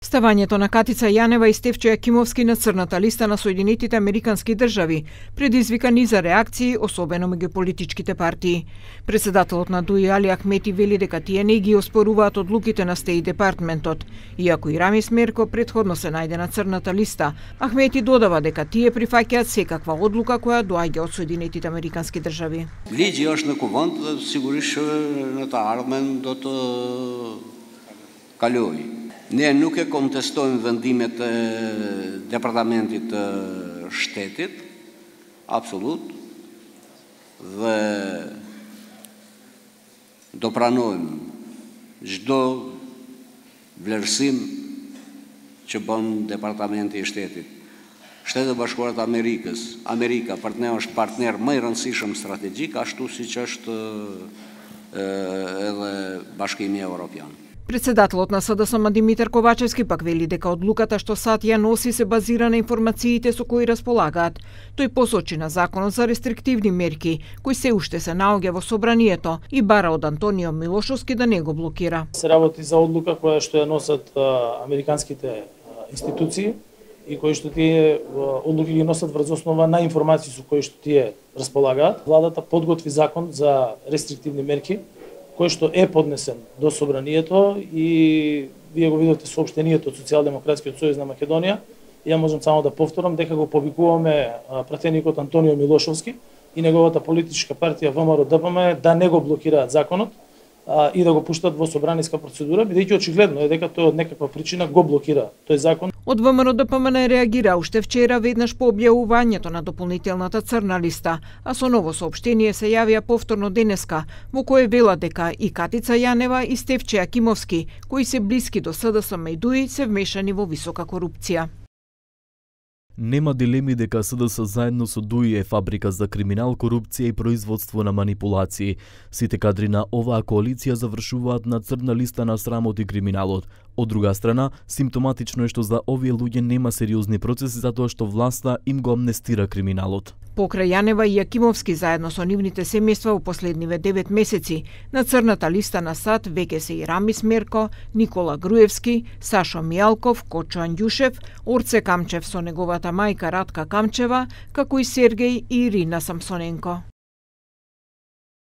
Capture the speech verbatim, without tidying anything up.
Ставањето на Катица Јанева и Стефче Јакимовски на црната листа на Соединетите Американски држави предизвика низа реакции, особено меѓу политичките партии. Председателот на ДУИ Али Ахмети вели дека тие не ги оспоруваат одлуките на Стејт департментот, иако и Рамис Мерко претходно се најде на црната листа. Ахмети додава дека тие прифаќаат секаква одлука која доаѓа од Соединетите Американски држави. Ligji është në kuvend dhe sigurisht në të ardhmen do të kalojë. Ne nuk e kontestojmë vendimet e Departamentit të Shtetit, absolut, dhe do pranojmë çdo vlerësim që bën Departamenti i Shtetit. Shtetet e Bashkuara të Amerikës, Amerika partner është partner më i rëndësishëm strategjik, ashtu siç është edhe Bashkimi Evropian. Председателот на СДСМ Димитар Ковачевски пак вели дека одлуката што САД ја носи се базира на информациите со кои располагаат. Тој посочи на законот за рестриктивни мерки, кој се уште се наоѓа во собранието и бара од Антонио Милошовски да не го блокира. Се работи за одлука која што ја носат а, американските а, институции и кои што тие одлуки ги носат врз основа на информации со кои што тие располагаат. Владата подготви закон за рестриктивни мерки кој што е поднесен до собранието и вие го видовте соопштението од Социјалдемократскиот сојуз на Македонија. Ја можам само да повторам дека го повикуваме пратеникот Антонио Милошовски и неговата политичка партија ВМРО Д П М да не го блокираат законот а, и да го пуштат во собраниска процедура, бидејќи очигледно е дека тој од некаква причина го блокира тој закон. Од ВМРО Д П М не реагира уште вчера веднаш по објавувањето на дополнителната црна листа, а со ново соопштение се јавија повторно денеска, во кое велат дека и Катица Јанева и Стефче Јакимовски, кои се блиски до СДСМ и ДУИ, се вмешани во висока корупција. Нема дилеми дека СДС заедно со ДУИ е фабрика за криминал, корупција и производство на манипулации. Сите кадри на оваа коалиција завршуваат на црна листа на срамот и криминалот. Од друга страна, симптоматично е што за овие луѓе нема сериозни процеси затоа што власта им го амнестира криминалот. Покрај Јанева и Јакимовски заедно со нивните семејства во последниве девет месеци, на црната листа на САД веќе се и Рамис Мерко, Никола Груевски, Сашо Мијалков, Кочо Анѓушев, Орце Камчев со неговата мајка Радка Камчева, како и Сергеј и Ирина Самсоненко.